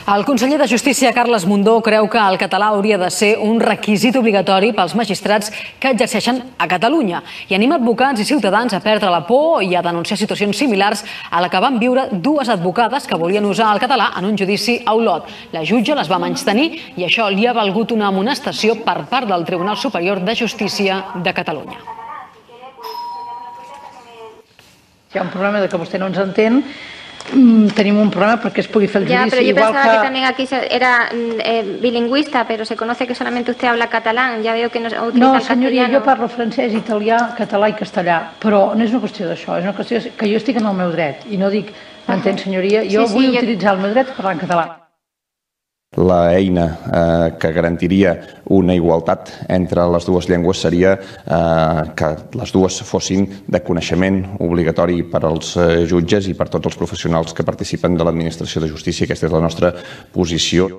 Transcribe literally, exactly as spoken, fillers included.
El conseller de Justícia, Carles Mundó, creu que el català hauria de ser un requisit obligatori pels magistrats que exerceixen a Catalunya i anima advocats i ciutadans a perdre la por i a denunciar situacions similars a la que van viure dues advocades que volien usar el català en un judici a Olot. La jutge les va menystenir i això li ha valgut una amonestació per part del Tribunal Superior de Justícia de Catalunya. Hi ha un problema de que vostè no ens entén. Tenim un problema porque es pugui fer el judici. Ya, pero yo pensaba que... que también aquí era eh, bilingüista, pero se conoce que solamente usted habla catalán. Ya veo que no utiliza no, el senyoria, castellano. Jo parlo francès, italià, català i castellà, però no és una qüestió d'això, és una qüestió que jo estic en el meu dret i no dic, m'entén, senyoria, jo sí, sí, vull jo... utilitzar el meu dret per parlar en català. La eina eh, que garantiria una igualtat entre les dues llengües seria eh, que les dues fossin de coneixement obligatori per als eh, jutges i per tots els professionals que participen de l'administració de justícia. Aquesta és la nostra posició.